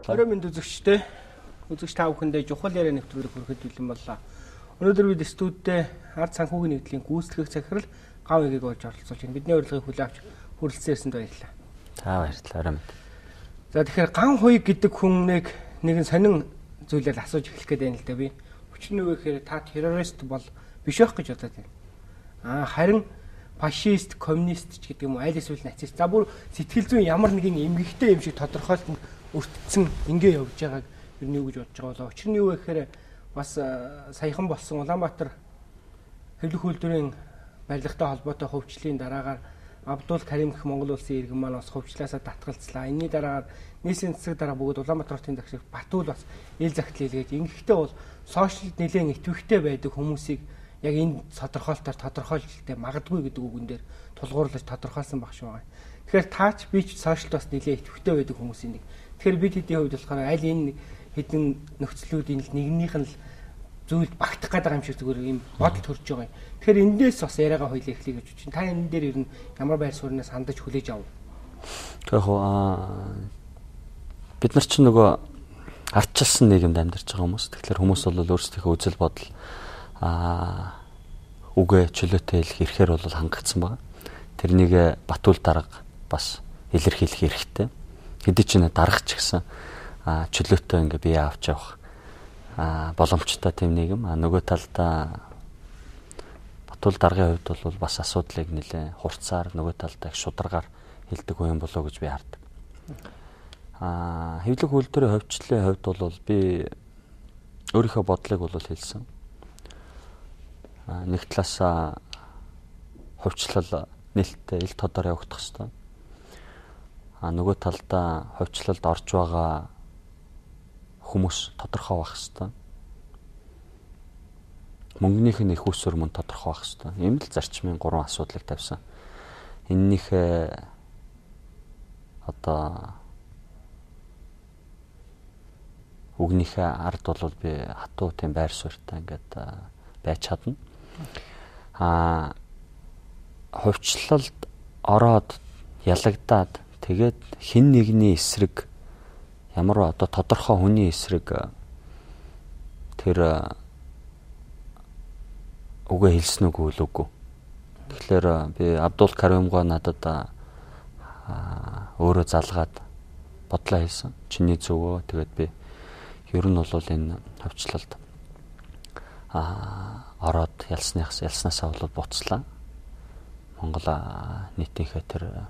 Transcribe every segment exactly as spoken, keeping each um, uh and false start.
баярлалаа. Орой минь үзэгчтэй. Үзэгч та бүхэндээ чухал яриа нэвтрүүлэг хүрэхэд бэлэн боллоо. Өнөөдөр бид студидтэй ард санхүүгийн нэгдлийн гүйцэтгэх захирал Гав Эгийг болж оролцуулж байна. Бидний урилгыг хүлээн авч хүрэлцэн ирсэнд баярлалаа. За баярлалаа. Орой минь. За тэгэхээр Ган Хуйг гэдэг хүннийг нэгэн сонин зүйлээр асууж эхлэх гээд байна л да би. Өчнөө вэ гэхээр та террорист бол биш байх гэж бодоод байна. Аа харин фашист, коммунист ч гэдэг юм уу, аль эсвэл нацист. За бүр сэтгэл зүйн ямар нэгэн эмгэгтэй юм шиг тодорхойлсон өртсөн ингээ явж байгааг ер нь юу гэж бодож байгаа болоо. Учир нь юу вэ гэхээр бас саяхан болсон Улаанбаатар хэвлэх үйлдвэрийн барилгатай холбоотой хөвчлийн дараагаар Абдул Карим гэх Монгол улсын иргэн маань бас хөвчлээсээ татгалцлаа. Энийний дараагаар нийслэлийн засаг дарга бүгд Улаанбаатар хотын захирал Батул бас ил захидал хийлгээж ингэхдээ бол сошиалд нэлээд идэвхтэй байдаг хүмүүсийг яг энэ тодорхойлолтоор тодорхойлолттой магадгүй гэдэг үгэн дээр тулгуурлаж тодорхойлсон баг шүү байгаа. Тэгэхээр таач би ч сошиалд бас нэлээд идэвхтэй байдаг хүмүүсийн нэг. Тэгэхээр бид хэдийн хувьд болохоор аль энэ хэдэн нөхцлүүдийн нэгнийх нь л зүйл багтах гэдэг юм шиг зүгээр юм бодол төрж байгаа юм. Тэгэхээр эндээс бас яриагаа хоёул эхлэе гэж чинь. Та энэ дээр ер нь ямар байр сууриас хандаж хүлээж ав? Тэгэхээр аа бид нар чинь нөгөө ардчилсан нийгэмд амьдарч байгаа хүмүүс. Тэгэхээр хүмүүс бол өөрсдийнхөө үзэл бодол аа үгээ чөлөөтэй хэлэх эрхээр бол хангагдсан байгаа. Тэрнийг Батул дарга бас илэрхийлэх хэрэгтэй. Хэдий ч нэ даргач гэсэн аа чөлөөтэй ингээ бие авч явах аа боломжтой тийм нийгэм. А нөгөө талдаа Батул даргын хувьд бол бас асуудлыг нэлээ хурцаар нөгөө талдаа их шударгаар хэлдэг юм болоо гэж би хардаг. Аа хэвлэх үйлдвэрийн хөвчлөлийн хувьд бол би өөрийнхөө бодлыг бол хэлсэн. Аа нэг талаасаа хөвчлөл нээлттэй ил тодор явагдах хэрэгтэй. А нөгөө талдаа хөвчлөлд орж байгаа хүмүүс тодорхой байх хэрэгтэй. Мөнгөнийх нь их усүр мөн тодорхой байх хэрэгтэй. Ийм л зарчмын гурван асуудлыг тавьсан. Эннийх одоо үгнийхээ ард бол би хатуу тийм байр суурьтай ингээд байж чадна. А хөвчлөлд ороод ялагдаад тэгээд хин нэгний эсрэг ямар одоо тодорхой хүний эсрэг тэр үгээ хэлсэн үгүй л үгүй. Тэгэхээр би Абдул Каримгаа надад өөрөө залгаад бодлоо хэлсэн. Чиний зөвөө. Тэгээд би ер нь бол энэ хөвчлөлд а ороод ялсныхаас ялснаасаа бол буцлаа. Монгол нийтийнхээ тэр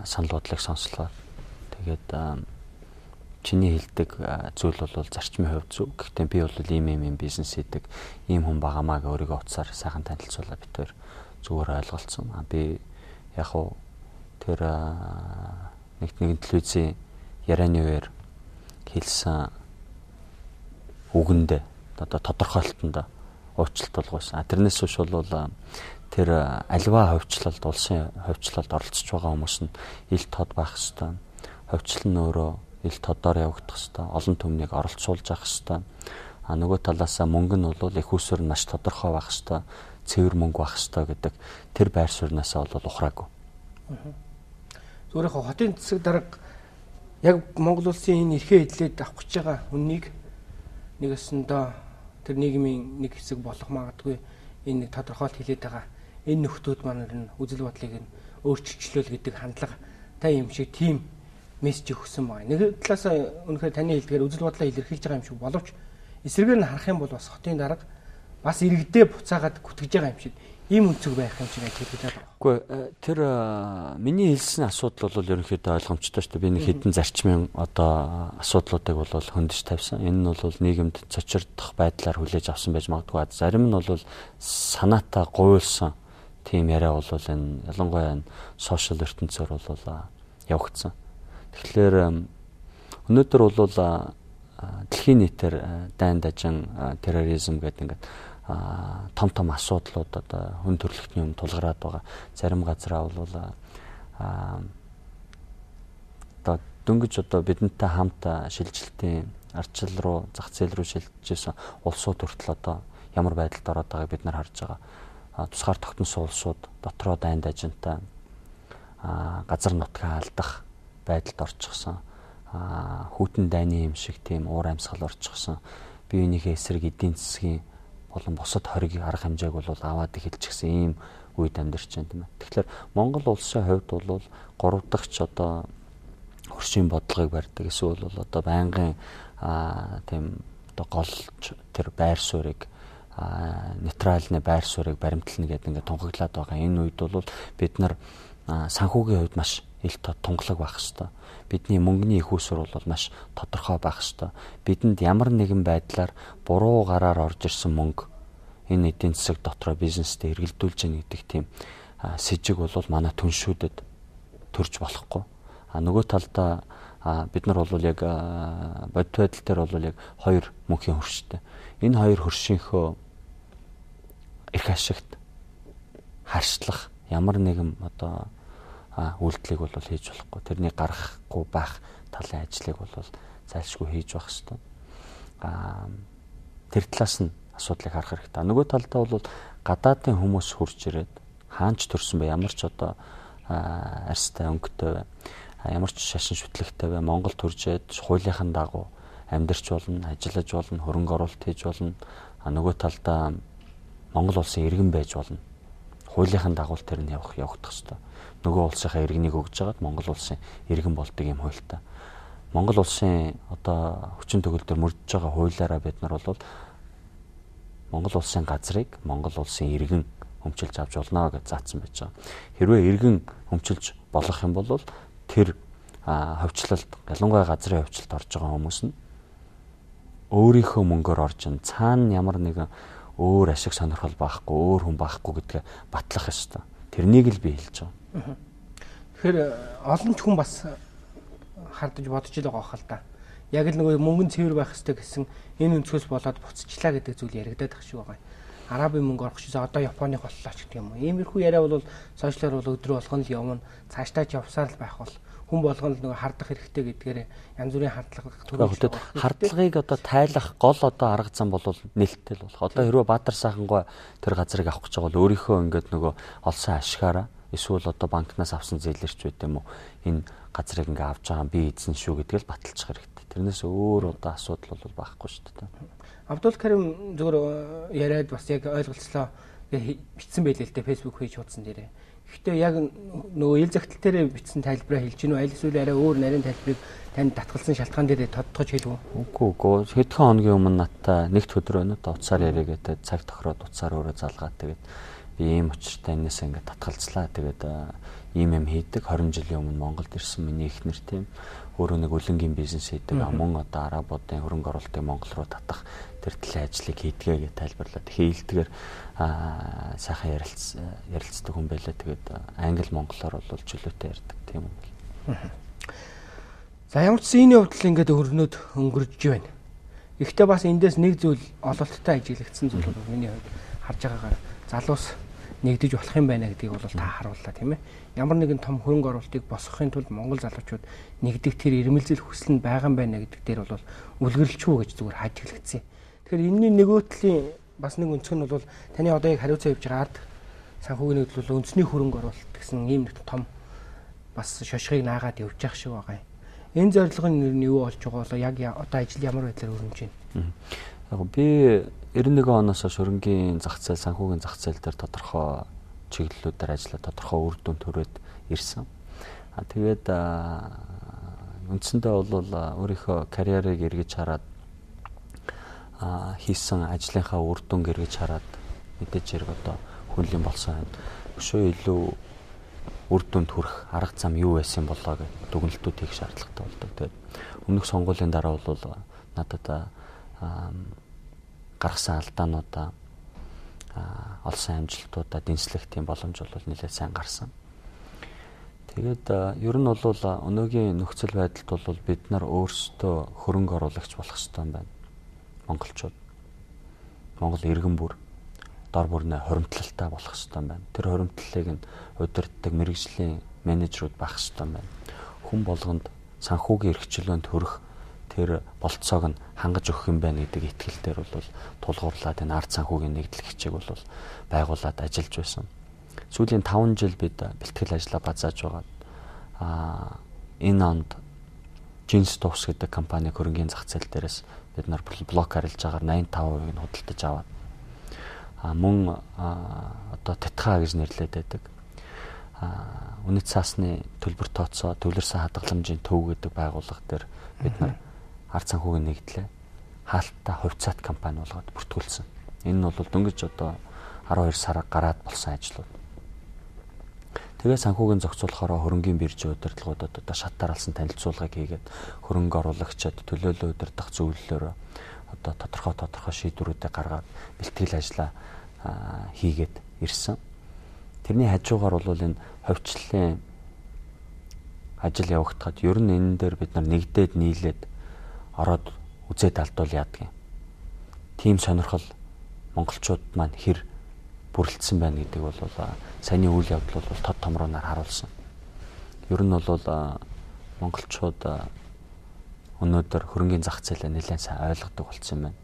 санал бодлыг сонслоо. Тэгээд чиний хэлдэг зүйл бол зарчмын хувьд зөв. Гэхдээ би бол ийм ийм ийм бизнес хийдэг, ийм хүн байгаамаа гэ өөрийгөө утсаар сайхан танилцуулаад битээр зүгээр ойлголцсон. А би яг уу тэр нэг нэгэн телевизийн ярианы үеэр хэлсэн үгэндээ одоо тодорхойлолтонд уучлалт болгосон. Тэрнээс биш бол тэр альва хөвчлөлд улсын хөвчлөлд оролцож байгаа хүмүүс нь ил тод байх хэвээр. Хөвчлөл нь өөрөө ил тодоор явагдах хэвээр. Олон түмнийг оролцуулж авах хэвээр. А нөгөө талаасаа мөнгө нь бол их усүр маш тодорхой байх хэвээр. Цэвэр мөнгө байх хэвээр гэдэг тэр байр сууринаасаа бол ухраагүй. Зүгээр яг хотын засаг дарга яг Монгол улсын энэ эрхээ эдлээд авах гэж байгаа хүнийг нэг өсөндөө тэр нийгмийн нэг хэсэг болох магадгүй энэ нэг тодорхойлт хэлээд байгаа. Энэ нөхдүүд маань нь үзэл бодлыг нь өөрчилчлөөл гэдэг хандлага та юм шиг тийм мессеж өгсөн байна. Нэг талаас үнэхээр таны хэлдгээр үзэл бодлоо илэрхийлж байгаа юм шиг боловч эсрэгээр нь харах юм бол бас хотын дарга бас иргэдээ буцаагаад гүтгэж байгаа юм шиг ийм өнцөг байх юм шиг хэлээд байгаа. Үгүй тэр миний хэлсэн асуудал бол ерөнхийдөө ойлгомжтой шүү дээ. Би нэг хэдэн зарчмын одоо асуудлуудыг бол хөндөж тавьсан. Энэ нь бол нийгэмд цочирдох байдлаар хүлээж авсан байж магадгүй. Зарим нь бол санаатаа гуйлсан тийм яриа бол энэ ялангуяа энэ сошиал ертөнцөөр бол явагдсан. Тэгэхээр өнөөдөр бол дэлхийн нийтээр дайн дажин терроризм гэдэг ингээд том том асуудлууд одоо хүн төрөлхтний юм тулгараад байгаа. Зарим газараа бол одоо дөнгөж одоо бидэнтэй хамт шилжилтийн ардчил руу зах зээл рүү шилжижсэн улсууд хүртэл одоо ямар байдалд ороод байгааг бид нар харж байгаа. Тусгаар тогтносон улсууд дотроо дайн дажинтай газар нутгаа алдах байдалд орчихсон. аа хүйтэн дайны юм шиг тийм уур амьсгал орчихсон. Биеийнхээ эсрэг эдийн засгийн болон бусад хориг арга хэмжээг бол аваад эхэлчихсэн ийм үед амьдарч байна тийм ээ. Тэгэхээр Монгол улсын хувьд бол гурав дахь ч одоо хөршийн бодлогыг барьдаг эсвэл бол одоо байнгын аа тийм одоо голч тэр байр суурийг аа нейтральны байр суурийг баримтлна гэдэг ингээд тунхаглаад байгаа. Энэ үед бол бид нар санхүүгийн хувьд маш ил тунгалаг байх хэвээр. Бидний мөнгөний их усур бол маш тодорхой байх хэвээр. Бидэнд ямар нэгэн байдлаар буруу гараар орж ирсэн мөнгө энэ эдийн засаг дотроо бизнестэй эргэлдүүлж яах гэдэг тийм сэжиг бол манай түншүүдэд төрж болохгүй. А нөгөө талдаа бид нар бол яг бодит байдал дээр бол яг хоёр мөнхийн хөрштэй. Энэ хоёр хөршийнхөө эрх ашигт харьцлах ямар нэгэн одоо үйлдэлийг бол хийж болохгүй. Тэрний гарахгүй байх талын ажлыг бол зайлшгүй хийж байх хэрэгтэй. Аа тэр талаас нь асуудлыг харах хэрэгтэй. Нөгөө талдаа бол гадаадын хүмүүс хурж ирээд хаанч төрсөн бай, ямар ч одоо арьстай өнгөтэй, ямар ч шашин шүтлэгтэй бай, Монгол төржээд хуулийнхын дагуу амьдарч болно, ажиллаж болно, хөрөнгө оруулалт хийж болно. А нөгөө талдаа Монгол улсын иргэн байж болно. Хуулийнхын дагуу тэр нь явах явагдах хэрэгтэй. Нөгөө улсынхаа иргэнийг өгж жагаад Монгол улсын иргэн болдог юм хуультай. Монгол улсын одоо хүчин төгөлдөр мөрдөж байгаа хуулиараа бид нар бол Монгол улсын газрыг Монгол улсын иргэн өмчилж авч болно гэж заасан байж байгаа. Хэрвээ иргэн өмчилж болох юм бол тэр хөвчлөлт, ялангуяа газрын хөвчлөлт орж байгаа хүмүүс нь өөрийнхөө мөнгөөр орж ин цаана ямар нэгэн өөр ашиг сонирхол байхгүй, өөр хүн байхгүй гэдгээ батлах ёстой. Тэрнийг л би хэлж байгаа. Тэгэхээр олон ч хүн бас хардаж бодож л байгаа хэл та. Яг л нөгөө мөнгөн цэвэр байх хэрэгтэй гэсэн энэ өнцгөөс болоод буцчихлаа гэдэг зүйл яригадаад ах шиг байгаа. Арабын мөнгө орох шизээ одоо Японы боллоо ч гэх юм уу. Иймэрхүү яриа бол сошиалар бол өдрөө болгон л явна. Цаашдаа ч явсаар л байх бол хүн болгон л нөгөө хардах хэрэгтэй гэдгээр янз бүрийн хардлага төрүүлж хардлагыг одоо тайлах гол одоо арга зам бол нээлттэй л болох. Одоо хэрвээ Баатар сайхангой тэр газрыг авах гэж байгаа бол өөрийнхөө ингээд нөгөө олсон ашигаараа эсвэл одоо банкнаас авсан зээлэрч байт юм уу энэ газрыг ингээ авч байгаа би эзэн шүү гэдгээл баталчих хэрэгтэй. Тэрнээс өөр одоо асуудал бол байхгүй шүү дээ. Абдул Карим зөвөр яриад бас яг ойлголцлоо бичсэн байлээ л дээ Facebook пэйж хуудсан дээрээ. Гэхдээ яг нөгөө ил загтал дээр бичсэн тайлбараа хэлж гинүү аль эсвэл арай өөр нарийн тайлбарыг танд татгалсан шалтгаан дээр тодтогч хэлв үү? Үгүй үгүй. Хэдхэн хоногийн өмнө надтай нэгт өдөр өнөд уцаар яриа гэдэг цаг тохироод уцаар өөрөө залгаад тэгээд би ийм учиртай энэс ингээд татгалцлаа. Тэгээд ийм юм хийдэг хорин жилийн өмнө Монголд ирсэн миний эхнэр тийм өөрөө нэг үлэнгийн бизнес хийдэг. Мөн одоо арабуудын хөрөнгө оруулалтыг Монгол руу татах тэр төлөв ажлыг хийдгээ гэж тайлбарлаад хийлдгээр сайхан ярилц ярилцдаг хүн байлаа. Тэгээд англи монголоор бол чөлөөтэй ярьдаг тийм юм. За ямар ч зүйний хувьд ингээд өрнөд өнгөрж байна. Гэхдээ бас эндээс нэг зүйл ололттой ажиглагдсан зүйл бол миний хувьд харж байгаагаар залуус нэгдэж болох юм байна гэдгийг бол та харууллаа тийм ээ. Ямар нэгэн том хөрөнгө оруулалтыг босгохын тулд Монгол залуучууд нэгдэх тэр ирмэлзэл хүсэл нь байгаа юм байна гэдэг дээр бол үлгэрлэлчгүй гэж зүгээр хааж хэлэгдсэн. Тэгэхээр энэний нөгөөтлийн бас нэг өнцг нь бол таны одоо яг хариуцаа явж байгаа ард санхүүгийн хөдөлгөөл үндэсний хөрөнгө оруулалт гэсэн ийм нэг том бас шошгыг наагаад явж явах шиг байгаа юм. Энэ зорилго нь юу болж байгаа бол яг одоо ажил ямар байдлаар өрнөж байна? Яг би девяносто нэгэн оноос хойш хөрөнгөний зах зээл, санхүүгийн зах зээл дээр тодорхой чиглэлүүдээр ажиллаад тодорхой үр дүн төрөөд ирсэн. А тэгээд үндсэндээ бол өөрийнхөө карьерийг эргэж хараад хийсэн ажлынхаа үр дүнг эргэж хараад мэдээж хэрэг одоо хүнлэн болсон байна. Өшөө илүү үр дүнд хүрэх арга зам юу байсан болоо гэж дүгнэлтүүд хийх шаардлагатай болдог. Тэгээд өмнөх сонгуулийн дараа бол надад гаргасан алдаануудаа олсон амжилтуудаа дэнслэх тийм боломж бол нэлээд сайн гарсан. Тэгээд ер нь бол өнөөгийн нөхцөл байдалд бол бид нар өөрсдөө хөрөнгө оруулагч болох хэрэгтэй юм байна. Монголчууд Монгол иргэн бүр дор бүрнээ хоримтлалтай болох хэрэгтэй юм байна. Тэр хоримтлалыг нь удирддаг мэргэжлийн менежерүүд байх хэрэгтэй юм байна. Хүн болгонд санхүүгийн эрхчлөөнд хүрэх тэр болцоог нь хангаж өгөх юм байна гэдэг итгэл дээр бол тулгуурлаад энэ ард санхүүгийн нэгдлэх хичээг бол байгуулад ажиллаж байсан. Сүүлийн таван жил бид бэлтгэл ажлаа базааж байгаа. Аа энэ онд Jeans Tops гэдэг компани хөрөнгөний зах зээл дээрээс бид нар блок харилж байгаагаар восемьдесят и пять percent-ийг нь худалдаж аваад а мөн одоо Тэтха гэж нэрлэдэг байдаг. А үнэт цаасны төлбөр тооцоо төвлөрсөн хадгаламжийн төв гэдэг байгууллага дээр бид нар ард санхүүгийн нэгдлээ хаалттай хувьцаат компани болгоод бүртгүүлсэн. Энэ нь бол дөнгөж одоо арван хоёр сар гараад болсон ажлууд. Тэгээ санхүүгийн зохицуулахаараа хөрөнгөний биржийн удирдлагуудад одоо шатаар алсан танилцуулгыг хийгээд хөрөнгө оруулагчид төлөөлөл удирдах зөвлөлөөр одоо тодорхой тодорхой шийдвэрүүдийг гаргаад бэлтгэл ажлаа хийгээд ирсэн. Тэрний хажуугаар бол энэ ховчлолын ажил явагдахад ер нь энэ дээр бид нар нэгдээд нийлээд ороод үзээд алдвал яадаг юм. Тим сонирхол монголчууд маань хэр бүрэлдсэн байна гэдэг бол саяны үйл явдал бол тод томрооноор харуулсан. Ер нь бол монголчууд өнөөдөр хөрөнгөний зах зээлээ нэлээд сайн ойлгодог болсон юм байна.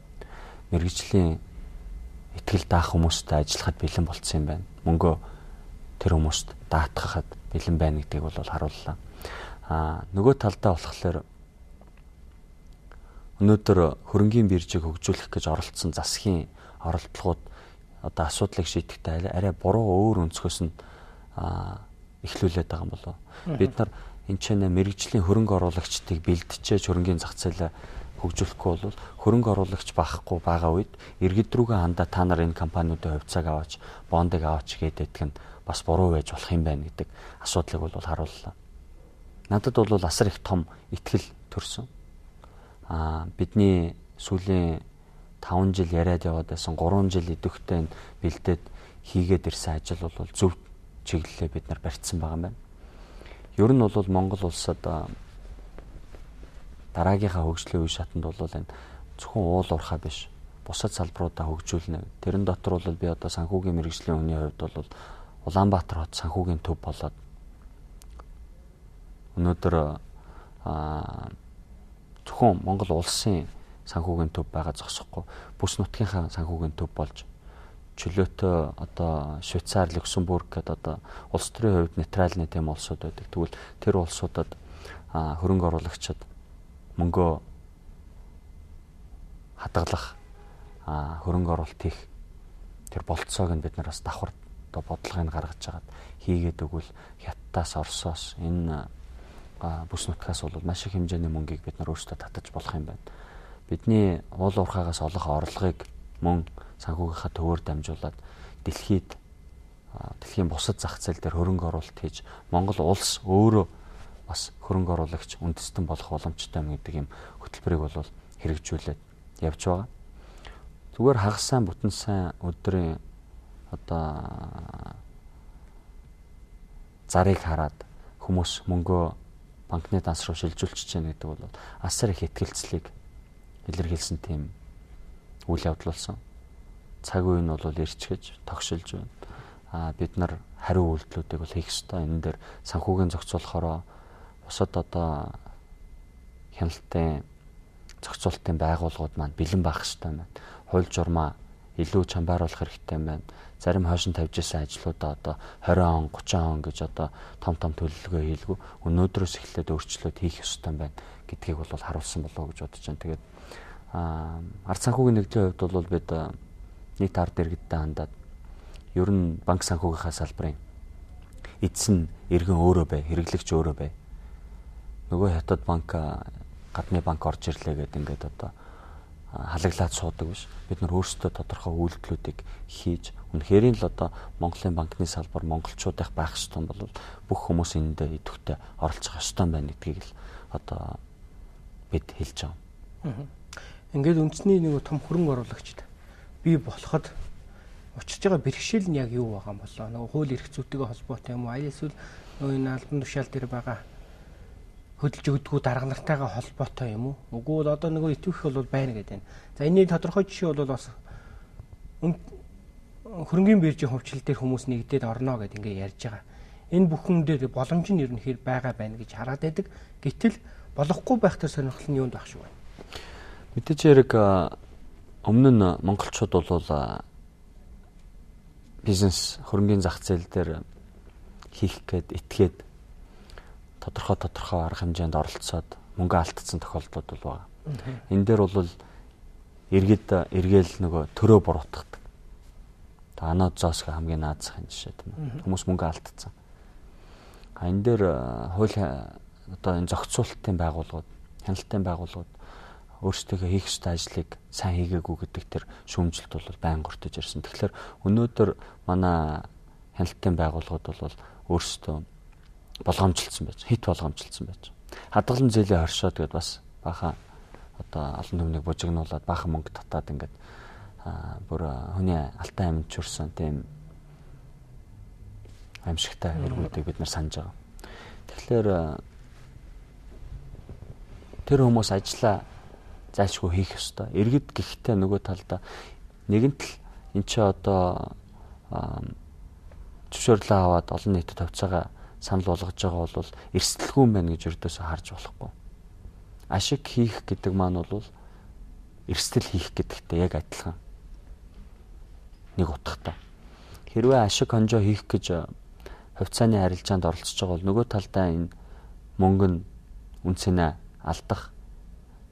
Мэргэжлийн итгэл даах хүмүүстэй ажиллахад бэлэн болцсон юм байна. Мөнгөө тэр хүмүүст даатгахад бэлэн байна гэдгийг бол харууллаа. Аа нөгөө талдаа болохоор өнөөдөр хөрөнгөний биржийг хөгжүүлэх гэж оролцсон засгийн оролдлогууд одоо асуудлыг шийдэхдээ арай буруу өөр өнцгөөс нь эхлүүлээд байгаа юм болов. Бид нар энэ ч нэ мэрэгжлийн хөрөнгө оруулагчдыг бэлтжиж хөрөнгөний зах зээлээ хөгжүүлэхгүй бол хөрөнгө оруулагч багахгүй байгаа үед иргэд рүүгээ хандаа та нар энэ компаниудын хувьцааг аваач, бондыг аваач гэдэг нь бас буруу байж болох юм байна гэдэг асуудлыг бол харууллаа. Надад бол асар их том итгэл төрсөн. Аа бидний сүүлийн таван жил яриад яваад байсан гурван жил идэвхтэй бэлдээд хийгээд ирсэн ажил бол зөв чиглэлээ бид нар барьсан байгаа юм байна. Ер нь бол Монгол улсад дараагийнхаа хөгжлийн үе шатанд бол энэ зөвхөн уул уурхай биш бусад салбаруудаа хөгжүүлнэ. Тэрэн дотор бол би одоо санхүүгийн мэргэжлийн үнийн хувьд бол Улаанбаатар хот санхүүгийн төв болоод өнөөдөр зөвхөн Монгол улсын санхүүгийн төв байгаа зогсохгүй бүс нутгийнхаа санхүүгийн төв болж чөлөөтэй одоо Швейцар, Люксембург гэдэг одоо улс төрийн хувьд нейтральны тэм улсууд байдаг. Тэгвэл тэр улсуудад хөрөнгө оруулагчид мөнгөө хадгалах хөрөнгө оруулалт хийх тэр болцоог нь бид нар бас давхар одоо бодлогыг гаргаж хагаад хийгээд өгвөл Хятадаас, Оросоос энэ бүс нутгаас бол маш их хэмжээний мөнгийг бид нар өөрсдөө татаж болох юм байна. Бидний уул уурхаагаас олох орлогыг мөн санхүүгийнхаа төвөөр дамжуулаад дэлхийд дэлхийн бусад зах зээл дээр хөрөнгө оруулалт хийж Монгол улс өөрөө бас хөрөнгө оруулагч үндэстэн болох боломжтой юм гэдэг юм хөтөлбөрийг бол хэрэгжүүлээд явж байгаа. Зүгээр хагас сайн бүтэн сайн өдрийн одоо зарыг хараад хүмүүс мөнгөө банкны данс руу шилжүүлчихэж байна гэдэг бол асар их итгэлцлийг илэрхийлсэн тийм үйл явдал болсон. Цаг үе нь бол ирчгэж тогшилж байна. Аа бид нар хариу үйлдэлүүдийг бол хийх ёстой. Энэ дээр санхүүгийн зохицуулахаараа бусад одоо хяналтын зохицуулалтын байгууллагууд маань бэлэн байх ёстой байна. Хууль журмаа илүү чамбааруулах хэрэгтэй байна. Зарим хойшин тавьж исэн ажлуудаа одоо двадцать он, тридцать он гэж одоо том том төлөвлөгөө хийлгүү. Өнөөдрөөс эхлээд өөрчлөлт хийх ёстой байна гэдгийг бол харуулсан болов уу гэж бодож байна. Тэгээд аа ард санхүүгийн нэгдлийн хувьд бол бид нийт ард иргэдтэй хандаад ер нь банк санхүүгийнхаа салбарын эзэн иргэн өөрөө бай, хэрэглэгч өөрөө бай. Нөгөө Хятад банк гадны банк орж ирлээ гэдэг ингээд одоо халаглаад суудаг биш. Бид нар өөрсдөө тодорхой үйлдэлүүдийг хийж үнэхээр л одоо Монголын банкны салбар монголчуудын байх ёстой бол бүх хүмүүс эндээ идэвхтэй оролцох ёстой байна гэдгийг л одоо бид хэлж байгаа. Ингээд үндэсний нэг том хөрөнгө оруулагчд бий болоход учирч байгаа бэрхшээл нь яг юу байгаа юм болоо? Нөгөө хууль эрх зүйтэйгээ холбоотой юм уу? Аль эсвэл нөгөө энэ албан тушаал дээр байгаа хөдөлж өгдөггүй дарга нартайгаа холбоотой юм уу? Үгүй бол одоо нөгөө итвэх бол байна гэдэг. За энэний тодорхой жишээ бол бас хөрөнгөний биржийн хувьчлал дээр хүмүүс нэгдээд орно гэдээ ингээ ярьж байгаа. Энэ бүхэн дээр боломж нь ерөнхийдөө байгаа байна гэж хараад байдаг. Гэтэл болохгүй байх төр сонирхол нь юунд байх шүү байна? Мэдээж хэрэг өмнө нь монголчууд бол бизнес хөрөнгөний зах зээл дээр хийх гээд итгээд тодорхой тодорхой арга хэмжээнд оролцоод мөнгө алдсан тохиолдлууд бол байгаа. Энэ дээр бол иргэд эргээл нөгөө төрөө буруутгадаг. Та анод зоосго хамгийн наазахын жишээ тийм ээ. Хүмүүс мөнгө алдсан. А энэ дээр хууль одоо энэ зохицуулалтын байгууллагууд, хяналтын байгууллагууд өөрсдөө хийх ёстой ажлыг сайн хийгээгүй гэдэг тэр шүүмжилт бол байн гортож ирсэн. Тэгэхээр өнөөдөр манай хяналтын байгууллагууд бол өөрсдөө болгоомжилсан байж, хит болгоомжилсан байж. Хадгалан зээлийн хоршоод гэдээ бас бахан одоо олон түмнийг бужигнуулаад бахан мөнгө татаад ингээд бүр хүний алтай амьд чурсан тийм аимшигтай эргүүдийг бид нар санаж байгаа. Тэгэхээр тэр хүмүүс ажиллаа зайлшгүй хийх ёстой. Иргэд гэхдээ нөгөө талдаа нэгэнт л эн чи одоо зөвшөөрлөө аваад олон нийтэд тавцаага санал болгож байгаа бол эрсдэлгүй юм байна гэж өрдөөсөө харж болохгүй. Ашиг хийх гэдэг маань бол эрсдэл хийх гэдэгтэй яг адилхан. Нэг утгатай. Хэрвээ ашиг хонжоо хийх гэж хувьцааны харилцаанд оролцож байгаа бол нөгөө талдаа энэ мөнгө нь үнцэнэ алдах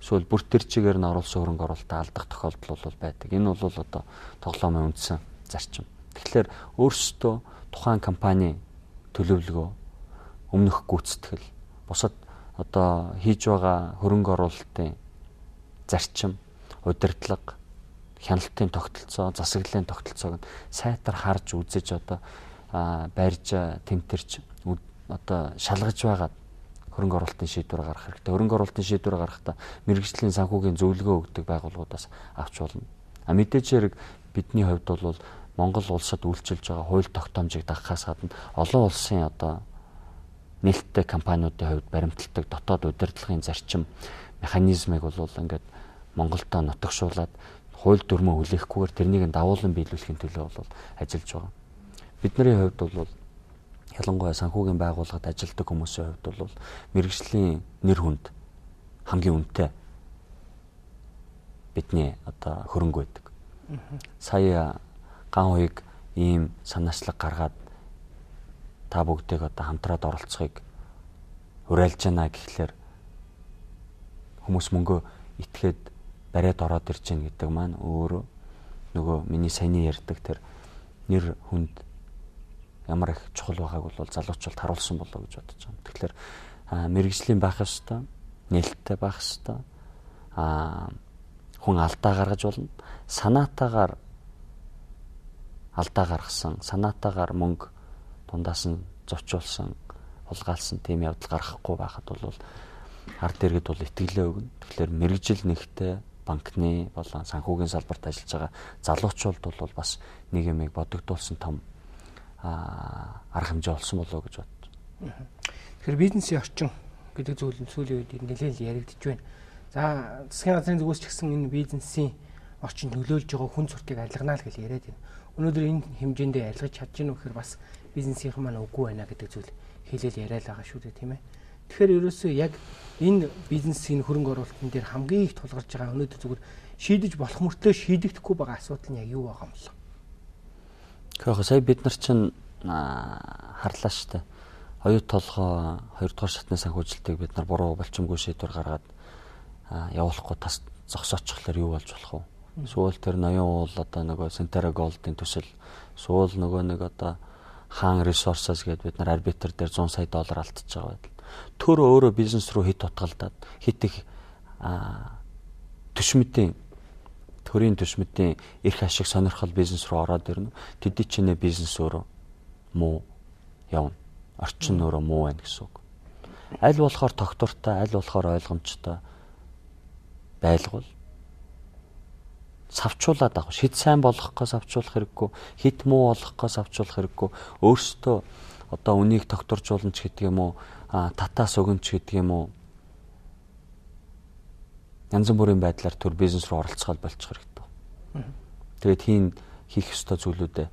эсвэл бүр төр чигээр нь оруулсан хөрөнгө оруулалтаа алдах тохиолдол бол байдаг. Энэ бол одоо тоглоомын үндсэн зарчим. Тэгэхээр өөрсдөө тухайн компани төлөвлөгөө, өмнөх гүйцэтгэл, бусад одоо хийж байгаа хөрөнгө оруулалтын зарчим, удирдлага, хяналтын тогтолцоо, засаглалын тогтолцоог нь сайтар харж үзэж одоо барьж, тэмтэрч одоо шалгаж байгаа хөрөнгө оруулалтын шийдвэр гаргах хэрэгтэй. Хөрөнгө оруулалтын шийдвэр гаргахдаа мэрэгжлийн санхүүгийн зөвлөгөө өгдөг байгууллагуудаас авч болно. А мэдээж хэрэг бидний хувьд бол Монгол улсад үйлчилж байгаа хууль тогтоомжийг дагахаас гадна олон улсын одоо нээлттэй компаниудын хувьд баримталдаг дотоод удирдлагын зарчим механизмыг бол ингээд Монголдо нутагшуулаад хууль дүрмөө хүлээхгүйгээр тэрнийг давуулан биелүүлэхийн төлөө бол ажиллаж байгаа. Бидний хувьд бол ялангуяа санхүүгийн байгууллагад ажилладаг хүмүүсийн хувьд бол мэрэгжлийн нэр хүнд хамгийн үнэтэй бидний одоо хөрөнгө байдаг. Сая ган хуйг ийм санаачлаг гаргаад та бүгдийг одоо хамтраад оролцохыг уриалж байна гэхлээр хүмүүс мөнгө итгээд бариад ороод ирж гин гэдэг маань өөрөө нөгөө миний саяны ярьдаг тэр нэр хүнд ямар их чухал байгааг бол залуучууд харуулсан болоо гэж бодож байна. Тэгэхээр мэрэгжлийн байх ёстой, нээлттэй байх ёстой. Аа хүн алдаа гаргаж болно. Санаатаагаар алдаа гаргасан, санаатаагаар мөнгө дундаас нь зочиулсан, хулгайлсан тийм явдал гаргахгүй байхад бол ард иргэд бол итгэлээ өгнө. Тэгэхээр мэрэгжил нэгтэй банкны болон санхүүгийн салбарт ажиллаж байгаа залуучууд бол бас нэг юмыг бодогдуулсан том арга хэмжээ олсон болоо гэж бодож байна. Тэгэхээр бизнесийн орчин гэдэг зүйл нь сүүлийн үед нэлээд яригдж байна. За засгийн газрын зүгээс ч гэсэн энэ бизнесийн орчин нөлөөлж байгаа хүн суртыг арилганаа л гэж яриад байна. Өнөөдөр энэ хэмжээндээ арилгаж чадж гэнэ үхээр бас бизнесийнхэн маань үгүй байна гэдэг зүйл хэлэл яриад байгаа шүү дээ, тийм ээ. Тэгэхээр ерөөсөө яг энэ бизнесийн хөрөнгө оруулалтын дээр хамгийн их тулгарч байгаа өнөөдөр зүгээр шийдэж болох мөртлөө шийдэгдэхгүй байгаа асуудал нь яг юу байгаа юм бэ? Тэгэхээр сая бид нар чинь харлаа штэ. Оюут толгой хоёрдугаар шатны санхүүжилтийг бид нар буруу болчимгүй шийдвэр гаргаад явуулахгүй тас зогсоочихлоор юу болж болох вэ? Сүүл тэр ноён уул одоо нөгөө Сентера Голдын төсөл, сүүл нөгөө нэг одоо хаан ресурсас гэдэг бид нар арбитр дээр зуун сая доллар алдчихж байгаа байдал. Төр өөрөө бизнес руу хит утгалдаад хит их төшмөдийн төрийн төшмөдийн эрх ашиг сонирхол бизнес руу ороод ирнэ. Тэдний чинээ бизнес өөрөө муу явна. Орчин өөрөө муу байна гэсэн үг. Аль болохоор тогтвортой, аль болохоор ойлгомжтой байлгал савчуулаад авах. Шид сайн болгохоос авчуулах хэрэггүй, хит муу болгохоос авчуулах хэрэггүй. Өөрсдөө одоо үнийг тогтворжуулна ч гэдэг юм уу, татаас өгөн ч гэдэг юм уу. Янз бүрийн байдлаар төр бизнес руу оролцоход болчих хэрэгтэй. Тэгээд хийн хийх ёстой зүйлүүдээ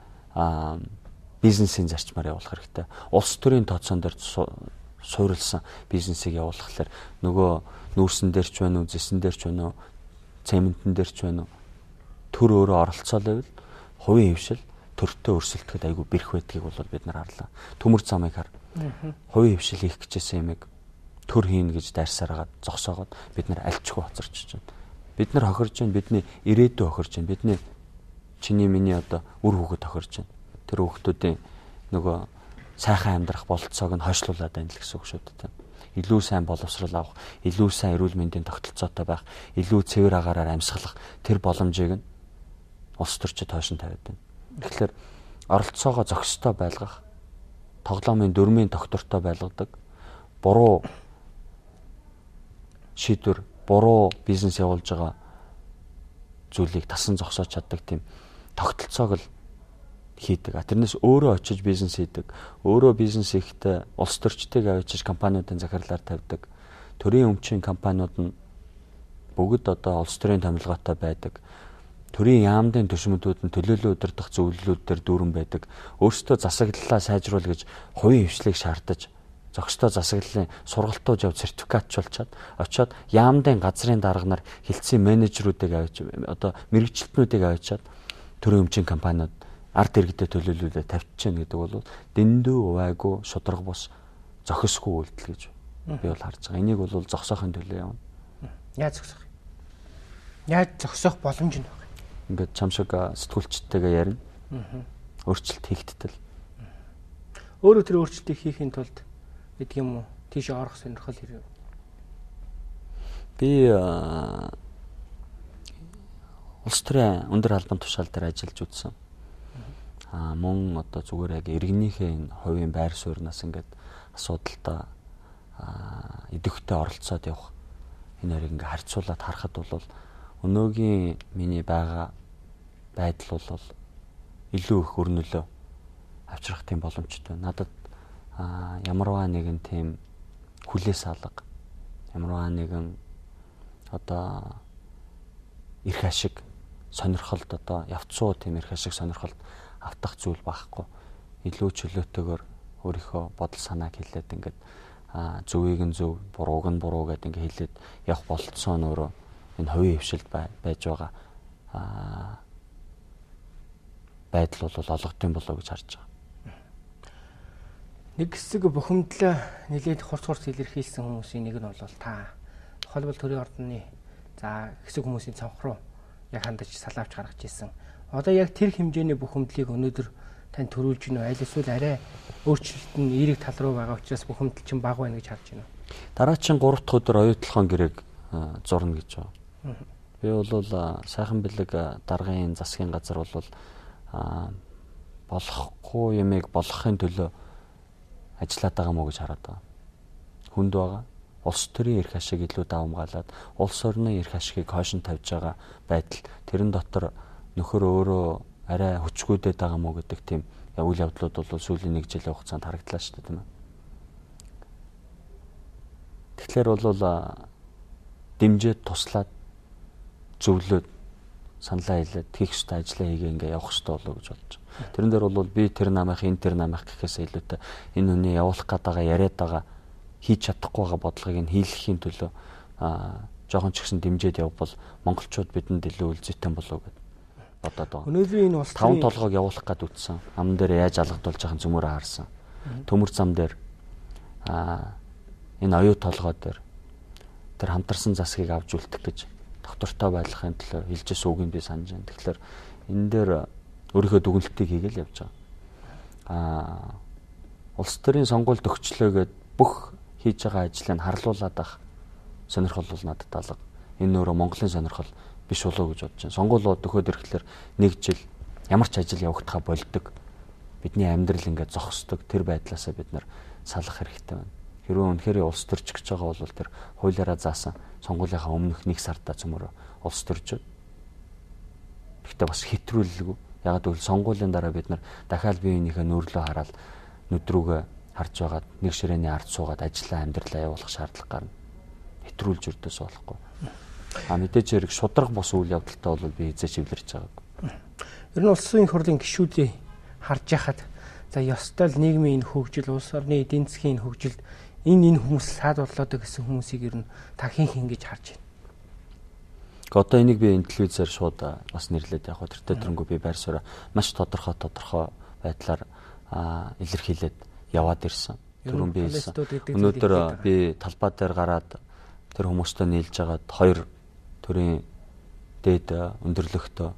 бизнесийн зарчмаар явуулах хэрэгтэй. Улс төрийн тооцоон дээр суурилсан бизнесийг явуулахлаар нөгөө нүүрсэн дээр ч байна уу, зэсэн дээр ч байна уу, цементэн дээр ч байна уу, төр өөрөө оролцоолойвол хувийн хвшил төртөө өрсөлдөхэд айгүй бэрх байдгийг бол бид нар харлаа. Төмөр замыг хар. Хувийн хвшил хийх гэжсэн юмыг төр хийн гэж дайрсараад зогсоогоод бид нар альчгүй хоцорч байна. Бид нар хохирж байна, бидний ирээдүй хохирж байна. Бидний чиний миний одоо үр хүүхэд тохирж байна. Тэр хүүхдүүдийн нөгөө сайхан амьдрах бололцоог нь хойшлуулад байна л гэсэн үг шүү дээ. Илүү сайн боловсрал авах, илүү сайн эрүүл мэндийн тогтолцоотой байх, илүү цэвэр агаараар амьсгалах тэр боломжийг нь улс төрчид хойшин тавиад байна. Тэгэхээр оролцоогоо зохистой байлгах, тоглоомын дөрмийн доктортой байлгадаг, буруу шийдвэр, буруу бизнес явуулж байгаа зүйлийг тасан зогсоож чаддаг тийм тогтолцоог л хийдэг. Тэрнээс өөрөө очиж бизнес хийдэг. Өөрөө бизнес хийхдээ улс төрчдийг авчиж компаниудын захирлаар тавьдаг. Төрийн өмчийн компаниуд нь бүгд одоо улс төрийн томилгоотой байдаг. Төрийн яамдын төшмөдүүд нь төлөөлөл удирдах зөвлөлүүд дээр дүүрэн байдаг. Өөрсдөө засаглалаа сайжруул гэж хувийн хвшлийг шаардаж, зохистой засаглалын сургалтууд яв сертификатчулчаад очиод яамдын газрын дарга нар хилцсэн менежерүүдийг авч одоо мэрэгчлэтнүүдийг авчаад төрийн өмчийн компаниуд ард иргэдэд төлөөлөлөө тавьчихна гэдэг бол дэндүү увайгүй шудраг бус зохисгүй үйлдэл гэж би бол харж байгаа. Энийг бол зогсоохын төлөө явна. Яаж зогсоох? Яаж зогсоох боломж нь байна? Ингээд чам шиг сэтгүүлчтэйгээ ярина. Өөрчлөлт хийгдтэл. Өөрөө тэр өөрчлөлтийг хийхин тулд гэдэг юм уу? Тийш орох сонирхол хэрэг. Би улс төрийн өндөр албан тушаал дээр ажиллаж үзсэн. Аа мөн одоо зүгээр яг иргэнийхээ энэ хувийн байр сууриас ингээд асуудалтай аа идэвхтэй оролцоод явах энэ хоёрыг ингээд харьцуулаад харахад бол өнөөгийн миний байгаа байдал бол илүү их өрнөлөө авчрах тийм боломжтой. Надад аа ямарваа нэгэн тийм хүлээс алга, ямарваа нэгэн одоо эрх ашиг сонирхолд одоо явцуу тийм эрх ашиг сонирхолд автах зүйл байхгүй. Илүү чөлөөтэйгээр өөрийнхөө бодол санааг хэлээд ингээд зөвийг нь зөв, бурууг нь буруу гэдэг ингээд хэлээд явах болцоо нь өөрөө энэ хувийн хвшилд байж байгаа байдал бол олгодсон болоо гэж харж байгаа. Нэг хэсэг бухимдлаа нэлээд хурц хурц илэрхийлсэн хүмүүсийн нэг нь бол та холбол төрийн ордны за хэсэг хүмүүсийн цонх руу яг хандаж салаавч гаргаж ирсэн. Одоо яг тэр хэмжээний бухимдлыг өнөөдөр тань төрүүлж гинөө аль эсвэл арай өөрчлөлт нь эерэг тал руу байгаа учраас бухимдал чинь бага байна гэж харж байна. Дараагийн гурав дахь өдөр оюутлахын гэрээг зурна гэж байна. Би бол сайхан бэлэг даргын засгийн газар бол болохгүй юмыг болгохын төлөө ажиллаад байгаа мó гэж хараад байгаа. Хүнд байгаа. Улс төрийн эрх ашиг илүү давамгаалаад улс орны эрх ашигыг хойшин тавьж байгаа байдал тэрэн дотор нөхөр өөрөө арай хүчгүйдээд байгаа мó гэдэг тийм үйл явдлууд бол сүүлийн нэг жилийн хугацаанд харагдлаа шүү дээ тийм ээ. Тэгэхээр бол дэмжиж туслаад зөвлөд саналаа хэлээд хийх ёстой ажлаа хийгээ ингээ явах ёстой болоо гэж бодож байна. Тэрэн дээр бол би тэр намайх энэ тэр намайх гэхээс илүүтэй энэ хүний явуулах гээд байгаа яриад байгаа хийж чадахгүй байгаа бодлогыг нь хийлгэхийн төлөө аа жоохон ч гэсэн дэмжиж явбал монголчууд бидэнд илүү үлзийтэй болоо гэдэг бодоод байгаа. Өнөөдрийн энэ улс таван толгойг явуулах гээд үтсэн. Ам дээр яаж алгадуулж байхын цөмөрөө харсан. Төмөр зам дээр аа энэ оюу толгой дээр тэр хамтарсан засгийг авч үлдэх гэж доктортой байлгахын төлөө хэлжсэн үгийг би санаж байна. Тэгэхээр энэ дээр өөрийнхөө дүгнэлтийг хийгээл явж байгаа. Аа улс төрийн сонгуульд өгчлөөгээд бүх хийж байгаа ажлыг харлуулад ах сонирхол бол надад алга. Энэ өөрөө Монголын сонирхол биш болоо гэж бодож байна. Сонгуулиуд өгөхөд ирэхлээр нэг жил ямар ч ажил явагдахаа болдог. Бидний амьдрал ингээд зогсдог. Тэр байдлаасаа бид нар салах хэрэгтэй байна. Хэрвээ үнэхээр улс төрч гэж байгаа бол тэр хуулиараа заасан сонгуулийнхаа өмнөх нэг сарда цөмөр улс төрчөд. Гэхдээ бас хэтрүүлэлгүй. Ягаад гэвэл сонгуулийн дараа бид нар дахиад биеийнхээ нөөрлөө хараад нүдрүүгээ харж байгаад нэг ширээний ард суугаад ажиллаа амьдралаа явуулах шаардлага гарна. Хэтрүүлж өрдөөс болохгүй. А мэдээж хэрэг шудраг бос үйл явдалтай бол би эзээ чивлэрч байгаагүй. Ер нь улсын их хурлын гишүүдийг харж яхад за ёстой л нийгмийн хөгжил, улс орны эдийн засгийн хөгжилд энэ энэ хүмүүс саад болоод гэсэн хүмүүсийг ер нь та хин хин гэж харж байна. Одоо энийг би энэ телевизээр шууд бас нэрлээд яг тэр төрөнгөө би байр сууриа маш тодорхой тодорхой байдлаар илэрхийлээд яваад ирсэн. түрүүн би хэлсэн. Өнөөдөр би талбай дээр гараад тэр хүмүүстэй нийлж агаад хоёр төрлийн дээд өндөрлөгтөө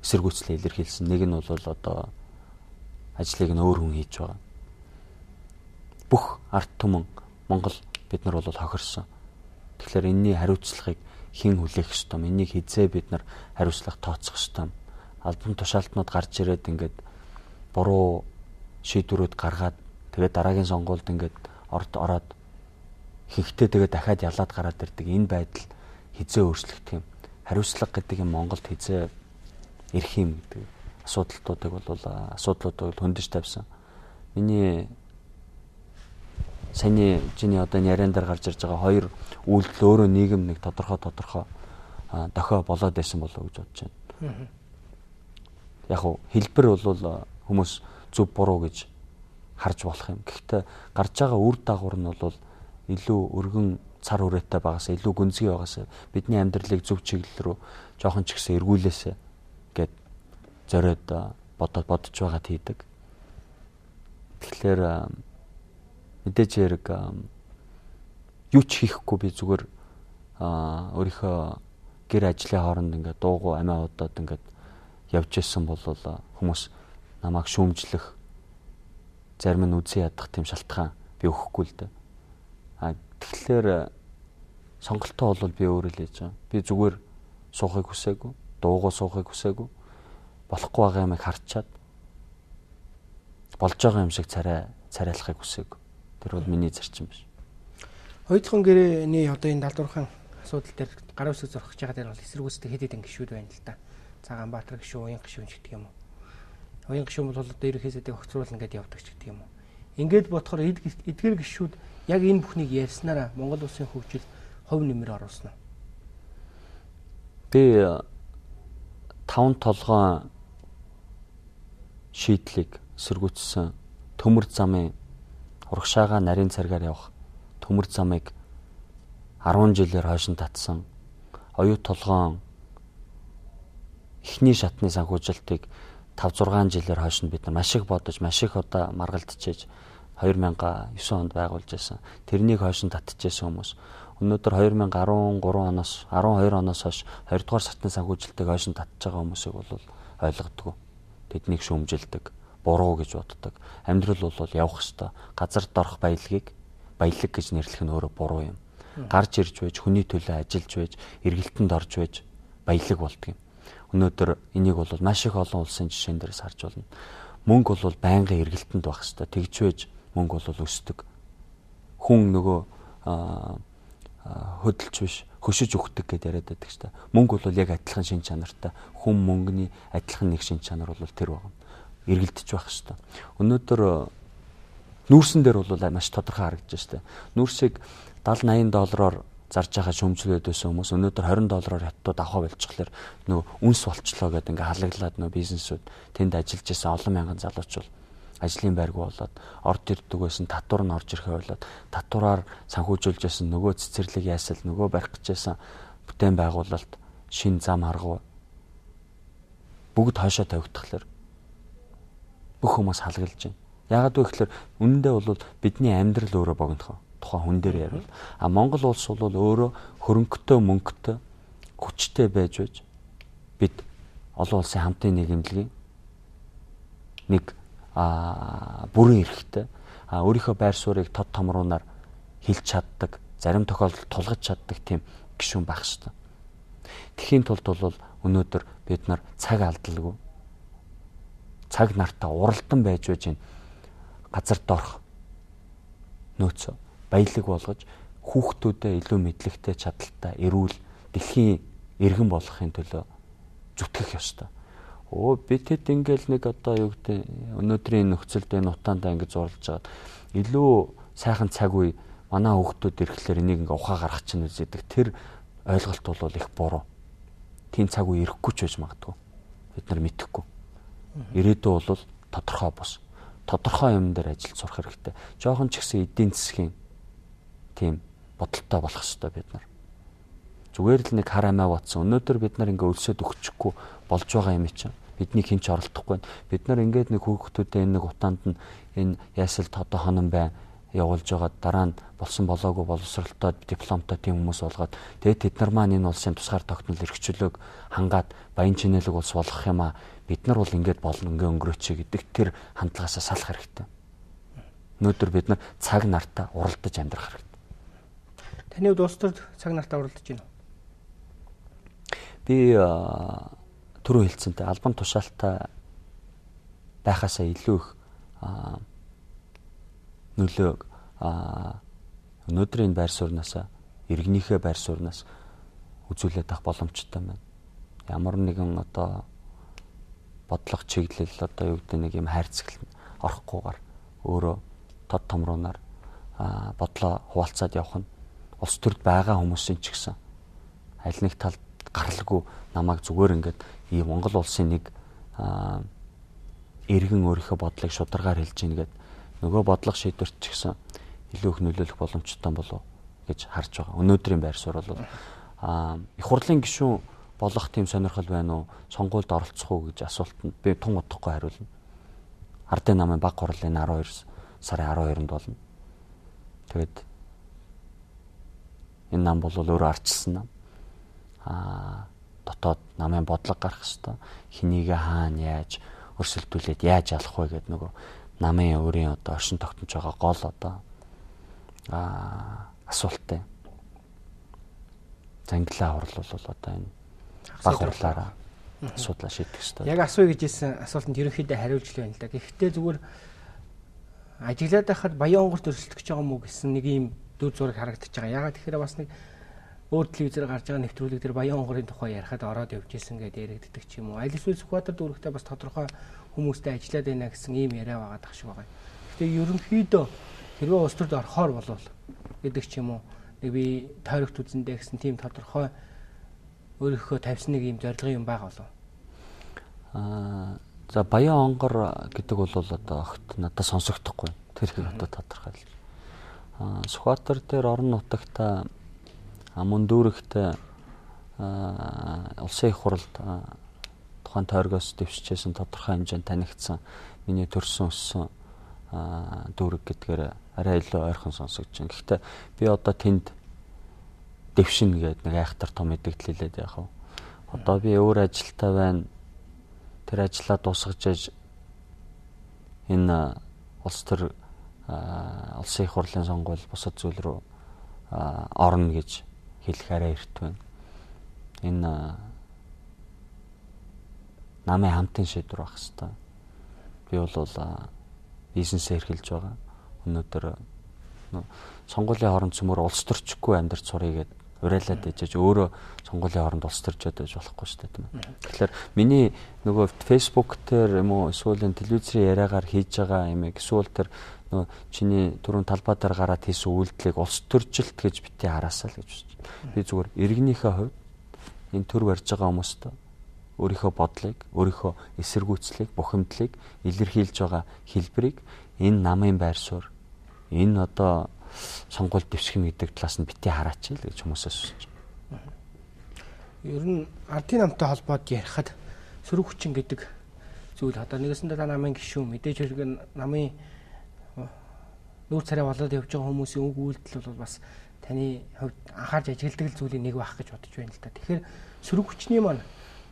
эсэргүүцлээ илэрхийлсэн. Нэг нь бол одоо ажлыг нь өөр хүн хийж байгаа. Бүх ард түмэн Монгол бид нар бол хохирсон. Тэгэхээр энэний хариуцлагыг хэн хүлээх ёстой юм? Энийг хизээ бид нар хариуцлага тооцох ёстой юм. Албан тушаалтнууд гарч ирээд ингээд буруу шийдвэрүүд гаргаад тэгээд дараагийн сонгуульд ингээд орд ороод хинхтээ тэгээд дахиад ялаад гараад ирдэг энэ байдал хизээ өөрчлөгдөх юм. Хариуцлага гэдэг юм Монголд хизээ ирэх юм гэдэг асуудлуудыг бол асуудлуудыг хөндөж тавьсан. Миний саяны чиний одоо яриан дээр гарч ирж байгаа хоёр үйлдэл өөрөө нийгэм нэг тодорхой тодорхой дохио болоод байсан болов уу гэж бодож байна. Яг хөө хэлбэр бол хүмүүс зөв буруу гэж харж болох юм. Гэхдээ гарч байгаа үр дагавар нь бол илүү өргөн цар хүрээтэй багаас илүү гүнзгий багаас бидний амьдралыг зөв чиглэл рүү жоохон ч ихсэн эргүүлээсэ гэд зориод бодоод бодож байгаад хийдэг. Тэгэхээр мэдээж хэрэг юу ч хийхгүй би зүгээр өөрийнхөө гэр ажлын хооронд ингээд дуугүй амиа удаад ингээд явж исэн бол хүмүүс намайг шүүмжлэх зарим нь үзий ядах тийм шалтгаан би өгөхгүй л дээ. А тэгэхээр сонголтоо бол би өөрөө л хийж байгаа. Би зүгээр суухыг хүсээгүй, дуугүй суухыг хүсээгүй. Болохгүй байгаа юмыг харчаад болж байгаа юм шиг царай царайлахыг хүсээгүй. Тэр бол миний зарчим биш. Хоёрдугаар гэрээний одоо энэ далдуурхан асуудал дээр гар үсэг зурхаж байгаа дээр бол эсэргүүцтэй хэд хэдэн гишүүд байна л да. Цагаанбаатар гишүүн, Уян гишүүн ч гэдэг юм уу. Уян гишүүн бол одоо ерөнхийдөө огцруулна гэдээ явдаг ч гэдэг юм уу. Ингээд бодохоор эдгээр гишүүд яг энэ бүхнийг ярьснараа Монгол улсын хөгжилд хувь нэмэр оруулсан уу? Би таван толгойн шийдлийг эсэргүүцсэн төмөр замын урагшаага нарийн царгаар явах төмөр замыг арван жилээр хойшин татсан оюу толгойн эхний шатны санхүүжилтийг таван зургаан жилээр хойш нь бид нар маш их бодож маш их удаа маргалдчихэж хоёр мянган девэн онд байгуулж байсан. Тэрнийг хойш нь татчихсан хүмүүс өнөөдөр хоёр мянган арван гурав оноос арван хоёр оноос хойш хоёрдугаар шатны санхүүжилтийг хойш нь татж байгаа хүмүүсийг бол ойлгодгүй. Тэднийг шүүмжилдэг, буруу гэж боддог. Амьдрал бол явах ёстой. Газарт орох баялагийг баялаг гэж нэрлэх нь өөрөө буруу юм. Гарч ирж байж, хүний төлөө ажиллаж байж, эргэлтэнд орж байж баялаг болдго юм. Өнөөдөр энийг бол маш их олон улсын жишээн дээрээс харж байна. Мөнгө бол байнгын эргэлтэнд байх ёстой. Тэгж байж мөнгө бол өсдөг. Хүн нөгөө хөдөлж биш, хөшиж өгдөг гэдээ яриад байдаг шүү дээ. Мөнгө бол яг адилхан шин чанартай. Хүн мөнгөний адилхан нэг шин чанар бол тэр байна. Эргэлдэж байх ёстой. Өнөөдөр нүүрсэн дээр бол маш тодорхой харагдаж штэ. Нүүрсийг дагаад наян доллараар зарж байгаа шөмжлөөд байсан хүмүүс өнөөдөр хорин доллараар хятад авах болчихлоор нөгөө үнс болчлоо гэдэг ингээ халаглаад нөгөө бизнесүүд тэнд ажиллаж байсан олон мянган залууч бол ажлын байрг болоод орд ирдэг байсан татвар нь орж ирэхээ болоод татвараар санхүүжүүлж байсан нөгөө цэцэрлэг яасал нөгөө барих гэж байсан бүтээн байгуулалт шин зам арга бүгд хойшоо тавигдахлаар бүх хүмүүс халаглаж байна. Яагаад вэ гэхээр үнэндээ бол бидний амьдрал өөрөө богинохоо тухайн хүн дээр ярил. А Монгол улс бол өөрөө хөрөнгөтэй мөнгөтэй хүчтэй байж байж бид олон улсын хамтын нийгэмлэгийн нэг а бүрэн эрэхтэй а өөрийнхөө байр суурийг тод томруунаар хилж чаддаг, зарим тохиолдолд тулгаж чаддаг тийм гишүүн байх ёстой. Тэхийн тулд бол өнөөдөр бид нар цаг алдалгүй цаг нартаа уралдан байж байж энэ газарт орох нөөцөө баялаг болгож хүүхдүүдэд илүү мэдлэгтэй чадaltaй эрүүл дэлхийн иргэн болохын төлөө зүтгэх ёстой. Оо бид хэд ингээл нэг одоо юу гэдэг өнөөдрийн нөхцөлд энэ утаандаа ингэж зурлаж байгаа. Илүү сайхан цаг үе манай хүүхдүүд ирэхлээр энийг ингээ ухаа гаргах чинь үзэдэг. Тэр ойлголт бол их буруу. Тийм цаг үе ирэхгүй ч байж магадгүй. Бид нар мэдэхгүй. Ирээдүй бол тодорхой бос. Тодорхой юм дээр ажиллаж сурах хэрэгтэй. Жохон ч ихсэн эдийн засгийн тийм бодолтой болох хэрэгтэй бид нар. Зүгээр л нэг хар амиа батсан. Өнөөдөр бид нар ингээ өлсөд өгчихгүй болж байгаа юм чинь бидний хинч оролдохгүй. Бид нар ингээд нэг хүүхдүүдэд энэ нэг утаанд нь энэ ясал тодо хонон бай явуулж байгаа дараа нь болсон болоогүй боловсролтой дипломтой тийм хүмүүс болгоод тэгээд тэд нар маань энэ улсын тусгаар тогтнол эрхчлөөг хангаад баян чинэлэг улс болгох юм а бид нар бол ингэж болно ингээ өнгөрөөч гэдэг тэр хандлагаасаа салах хэрэгтэй. Өнөөдөр бид нар цаг нартаа уралдаж амьдрах хэрэгтэй. Таны хувьд улс төрд цаг нартаа уралдаж байна уу? Би түрүү хэлсэнтэй албан тушаалтай байхаасаа илүү их нөлөөг өнөөдрийн байр сууриас иргэнийхээ байр сууриас үзүүлээд авах боломжтой байна. Ямар нэгэн одоо бодлого чиглэл одоо юу гэдэг нэг юм хайрцагт орохгүйгээр өөрөө тод томруунаар бодлоо хуваалцаад явах нь улс төрд байгаа хүмүүсийн ч гэсэн аль нэг талд гаралгүй намайг зүгээр ингээд ийм Монгол улсын нэг иргэн өөрийнхөө бодлыг шударгаар хэлж ийн гэдэг нөгөө бодлого шийдвэрт ч гэсэн илүү их нөлөөлөх боломжтой болов гэж харж байгаа. Өнөөдрийн байр суурь бол аа их хурлын гишүүн болох тийм сонирхол байна уу? Сонгуульд оролцох уу гэж асуултанд би тун удахгүй хариулна. Ардын намын баг хурлын арван хоёр сарын арван хоёрнд болно. Тэгэд энэ нам бол өөрөө арчилсан нам. Аа дотоод намын бодлого гарах хэвээр хинийгээ хаана яаж өрсөлдүүлээд яаж алах вэ гэдэг нөгөө намын өөрийн одоо оршин тогтнож байгаа гол одоо аа асуулттай. Зангилаа хурлал бол одоо энэ баг хурлаараа асуудлаа шийдэх хэрэгтэй. Яг асууя гэж хэлсэн асуултанд ерөнхийдөө хариулж л байна л да. Гэхдээ зүгээр ажиглаад байхад баян онгорт өрсөлдөх гэж байгаа мó гэсэн нэг юм дүр зураг харагдаж байгаа. Ягаад тэгэхээр бас нэг өөр телевизээр гарч байгаа нэвтрүүлэг дээр баян онгорын тухай ярихад ороод явж исэн гэдээ яригддаг ч юм уу. Аль эсвэл Сүхбаатар дүүрэгтээ бас тодорхой хүмүүстэй ажиллаад байна гэсэн ийм яриа байгаа дах шиг байгаа. Гэхдээ ерөнхийдөө хэрвээ улс төрд орохоор болвол гэдэг ч юм уу. Нэг би тойрогт үзэндээ гэсэн тийм тодорхой өөрийнхөө тавьсан нэг юм зорилгын юм байгаа болов. Аа за баян онгор гэдэг бол одоо огт надад сонсогдохгүй. Тэр их одоо тодорхойлж. Аа Сүхбаатар дээр орон нутагта мөн дүүрэгт улсын их хурлд тухайн тойргоос дэвшижсэн тодорхой хэмжээнд танигдсан миний төрсөн өссөн дүүрэг гэдгээр арай илүү ойрхон сонсогдож байна. Гэхдээ би одоо тэнд дэвшин гэдэг нэг айхтар том мэдээлэл хэлээд яах вэ? Одоо би өөр ажилтаа байна. Тэр ажлаа дуусгаж энэ улс төр улсын их хурлын сонгуул бусад зүйл рүү орно гэж хэлэх арай эрт байна. Энэ намын хамтын шийдвэр байх хэвээр. Би бол бизнесээ эрхэлж байгаа. Өнөөдөр сонгуулийн хооронд цөмөр улс төрчгүй амьдарч сурыг гэд урайлаад дэжэж өөрөө сонгуулийн хооронд улс төрчөөд байж болохгүй шүү дээ тийм ээ. Тэгэхээр миний нөгөө Facebook дээр юм уу эсвэл телевизийн яриагаар хийж байгаа юм эсвэл тэр нөгөө чиний түрүүн талбай дээр гараад хийсэн үйлдэлийг улс төржилт гэж бити хараасаа л гэж бодож байна. Би зүгээр иргэнийхээ хувьд энэ төр барьж байгаа хүмүүст өөрийнхөө бодлыг, өөрийнхөө эсэргүүцлийг, бухимдлыг илэрхийлж байгаа хэлбэрийг энэ намын байр суурь, энэ одоо сонгуульд дэвших гэдэг талаас нь бити хараач л гэж хүмүүсээс хүсэж байна. Ер нь ардын намтай холбоод ярихад сөрөг хүчин гэдэг зүйл одоо нэгэсэндээ та намын гишүүн мэдээж хэрэг намын нүүр царай болоод явж байгаа хүмүүсийн үг үйлдэл бол бас таны хувьд анхаарч ажигладаг зүйлийн нэг байх гэж бодож байна л да. Тэгэхээр сөрөг хүчний маань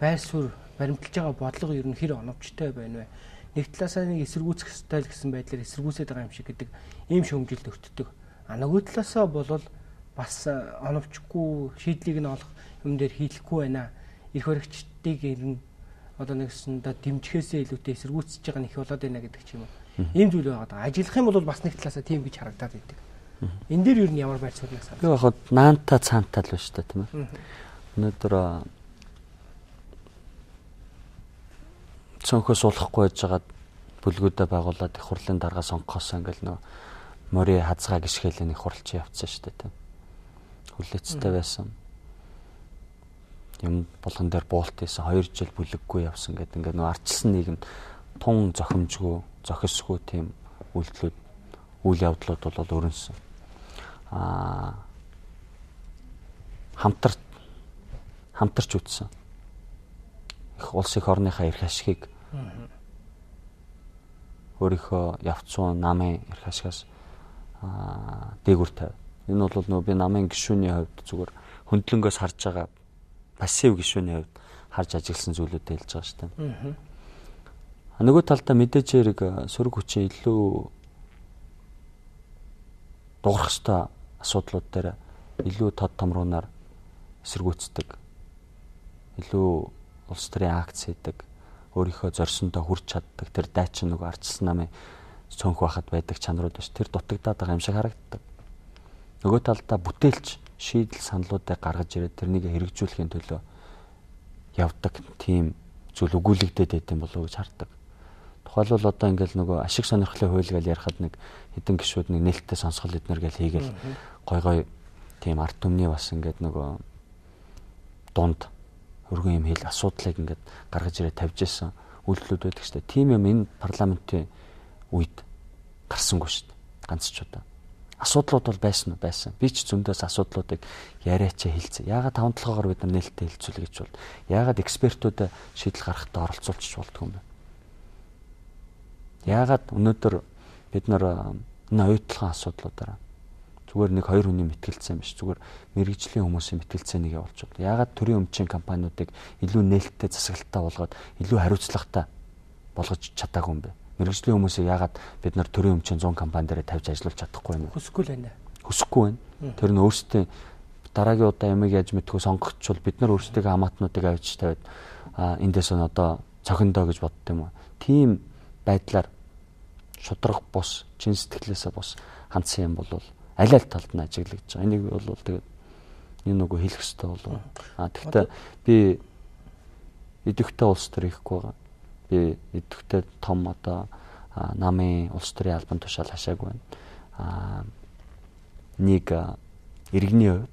байр суурь баримталж байгаа бодлого ер нь хэр оновчтой байна вэ? Нэг талаасаа нэг эсэргүүцэх стайл гэсэн байдлаар эсэргүүцээд байгаа юм шиг гэдэг ийм шөмжилд өртдөг. А нөгөө талаасаа бол бас оновчгүй шийдлийг нь олох юм дээр хийлэхгүй байна. Ирэх баригчдыг ер нь одоо нэгсэндээ дэмжихээсээ илүүтэй эсэргүүцэж байгаа нөх болоод байна гэдэг ч юм уу. Ийм зүйл байгаа. Ажиллах юм бол бас нэг талаасаа тийм гэж харагдаад байдаг. Энэ дээр ер нь ямар байр суурь насаа. Би яг наанта цаантаа л байна шүү дээ тийм ээ. Өнөөдөр цонхоо суулгахгүй байж байгаад бүлгүүдээ байгуулад их хурлын дарга сонгохоос ингээл нөө мори хазгаа гიშгэлээ нэг хурлч явцсан шүү дээ тийм. Хүлээцтэй байсан. Юм болгон дээр буулт хийсэн хоёр жил бүлэггүй явсан гэдэг ингээд нөө арчилсан нийгэмд тун зохимжгүй, зохисгүй тийм үйлдэлүүд, үйл явдлууд бол өрнөсөн. Аа хамтар хамтарч үтсэн. Их улс их орныхаа эрх ашигыг өөрийнхөө явцсан намын эрх ашигаас аа дээгүр тавь. Энэ бол нөгөө би намын гишүүний хувьд зүгээр хөндлөнгөөс харж байгаа пассив гишүүний хувьд харж ажигласан зүйлүүдээ хэлж байгаа шүү дээ. Аа. Нөгөө талдаа мэдээж хэрэг сөрөг хүчин илүү дуурах ёстой асуудлууд дээр илүү тод томруунаар эсэргүүцдэг. Илүү улс төрийн акц хийдэг, өөрийнхөө зорьсондоо хүрч чаддаг тэр дайчин нөгөө ардчилсан намын цөөнх байхад байдаг чанарууд биш. Тэр дутагдаад байгаа юм шиг харагддаг. Нөгөө талдаа бүтээлч шийдэл саналуудыг гаргаж ирээд тэрнийг хэрэгжүүлэхийн төлөө явдаг тийм зүйл өгүүлэгдээд байт юм болов уу гэж хардаг. Тухайлбал одоо ингээл нөгөө ашиг сонирхлын хууль гэж ярихад нэг хэдэн гишүүд нэг нээлттэй сонсгол эднэр гэж хийгээл гой гой тийм ард түмний бас ингээд нөгөө дунд өргөн юм хэл асуудлыг ингээд гаргаж ирээд тавьж исэн үйлдэлүүд байдаг шүү дээ. Тийм юм энэ парламентын үед гарсангүй шүү дээ. Ганц ч удаа. Асуудлууд бол байсан уу? Байсан. Би ч зөндөөс асуудлуудыг яриач хэлцээ. Яагаад таван толгоогоор бид нар нээлттэй хэлцүүлэх гэж бол? Яагаад экспертүүдэд шийдэл гаргахтаа оролцуулчих болдгоо юм бэ? Яагаад өнөөдөр бид нар энэ оюутлахын асуудлуудаараа зүгээр нэг хоёр хүний мэтгэлцсэн биш. Зүгээр мэрэгжлийн хүмүүсийн мэтгэлцээнийг явуулж байна. Яагаад төрийн өмчийн компаниудыг илүү нээлттэй засаглалтаа болгоод илүү хариуцлагатай болгож чадаагүй юм бэ? Мэргэжлийн хүмүүсийг яагаад бид нар төрийн өмчийн зуун компани дээр тавьж ажиллуулж чадахгүй юм бэ? Хүсэхгүй л байна. Хүсэхгүй байна. Тэр нь өөрсдөө дараагийн удаа ямиг яаж мэдхүү сонгогчвол бид нар өөрсдөө хамаатнуудыг авч тавиад эндээс нь одоо цохиндоо гэж бодд юм уу? Тийм байдлаар шудраг бус, чин сэтгэлээсээ бус хандсан юм бол аль аль талд нь ажиглагдж байгаа. Энийг бол тэгээд энэ нөгөө хэлэх хэрэгтэй болов. А тэгвэл би идэвхтэй улс төр ихгүй байгаа. Би идэвхтэй том одоо намын улс төрийн албан тушаал хашаагүй байна. А нэг иргэний хувьд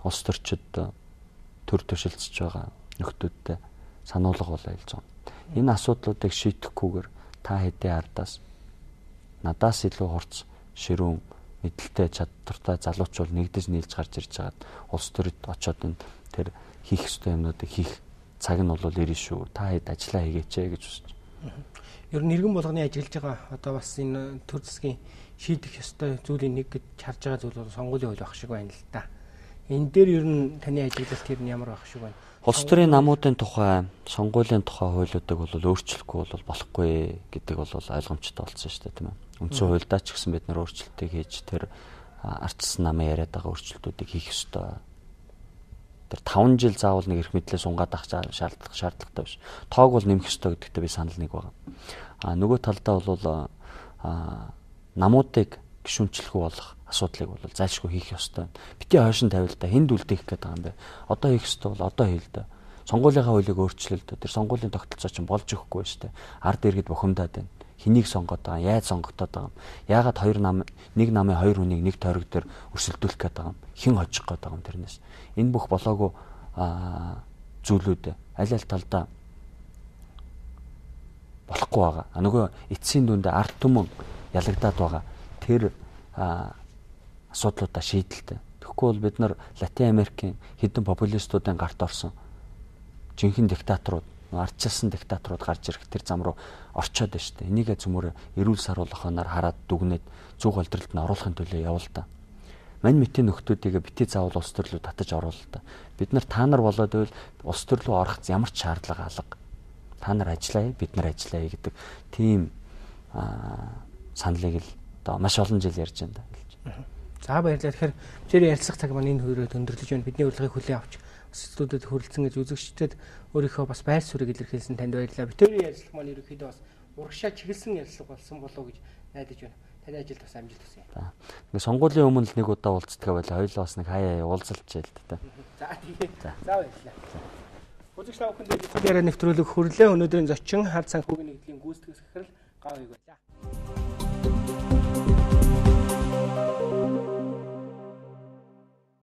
улс төрчид төр төшөлдөж байгаа нөхдүүдтэй сануулга болоо хэлж байгаа. Энэ асуудлуудыг шийдэхгүйгээр та хэдийн ардаас надаас илүү хурц ширүүн мэдлэлтэй чадвартай залуучууд нэгдэж нийлж гарч ирж байгаад улс төрөд очоод энэ тэр хийх ёстой юмнуудыг хийх цаг нь бол ирнэ шүү. Та хэд ажиллаа хийгээч гэж үзэж. Ер нь иргэн болгоны ажиллаж байгаа одоо бас энэ төр засгийн шийдэх ёстой зүйлийн нэг гэж харж байгаа зүйл бол сонгуулийн хууль байх шиг байна л да. Энэ дээр ер нь таны ажиглалт ер нь ямар байх шиг байна? Улс төрийн намуудын тухай, сонгуулийн тухай хуулиудыг бол өөрчлөхгүй бол болохгүй гэдэг бол ойлгомжтой болсон шүү дээ, тийм ээ. Үндсэн хуульдаа ч гэсэн бид нар өөрчлөлтийг хийж тэр ардчилсан намын яриад байгаа өөрчлөлтүүдийг хийх ёстой. Тэр таван жил заавал нэг эрх мэдлээ сунгаад авах шаардлага шаардлагатай биш. Тоог бол нэмэх ёстой гэдэгтээ би санал нэг байгаа. А нөгөө талдаа бол а намуудыг гишүүнчлэхүү болох асуудлыг бол зайлшгүй хийх ёстой. Бити хойшин тавил та хэнд үлдээх гээд байгаа юм бэ? Одоо хийх ёстой бол одоо хийл дээ. Сонгуулийнхаа хуулийг өөрчлөл дээ. Тэр сонгуулийн тогтолцоо чинь болж өгөхгүй шүү дээ. Ард иргэд бухимдаад байна. Хэнийг сонгоод байгаа, яаж сонгогдоод байгаа юм? Яагаад хоёр нам нэг намын хоёр хүнийг нэг тойрог дээр өрсөлдүүлэх гээд байгаа юм? Хэн хожих гээд байгаа юм тэрнээс? Энэ бүх болоогүй зүйлүүд аль аль талдаа болохгүй байгаа. А нөгөө эцсийн дүндээ ард түмэн ялагдаад байгаа. Тэр асуудлуудаа шийдэлтэй. Тэгэхгүй бол бид нар Латин Америкийн хэдэн популистуудын гарт орсон жинхэнэ диктаторууд, ардчилсан диктаторууд гарч ирэх тэр зам руу орчоод байна шүү дээ. Энийгээ цөмөр эрүүл саруулаханаар хараад дүгнээд зүг голдролд нь оруулахын төлөө явуул та. Мань мэтийн нөхдүүдийг бити заавал улс төр рүү татаж оруулаа та. Бид нар та нар болоод байвал улс төр рүү орох ямар ч шаардлага алга. Та нар ажиллая, бид нар ажиллая гэдэг тийм саналыг л одоо маш олон жил ярьж байна да. За баярлалаа. Тэгэхээр бидний ярилцах цаг маань энэ хүрээд өндөрлөж байна. Бидний урилгыг хүлээн авч студиуд хүрэлцэн гэж үзэгчдэд өөрийнхөө бас байр суурийг илэрхийлсэн танд баярлалаа. Бидний ярилцлага маань ерөнхийдөө бас урагшаа чиглэсэн ярилцлага болсон болов уу гэж найдаж байна. Таны ажилд бас амжилт хүсье. За. Ингээ сонгуулийн өмнө л нэг удаа уулздаг байлаа. Хоёулаа бас нэг хаяа уулзалж ял та. За тийм. За баярлалаа. Үзэгч та бүхэнд ярилцлага нэвтрүүлэг хүрлээ. Өнөөдрийн зочин хар санхүүгийн нэгдлийн гүйцэтгэх захирал Гав Ийг байлаа.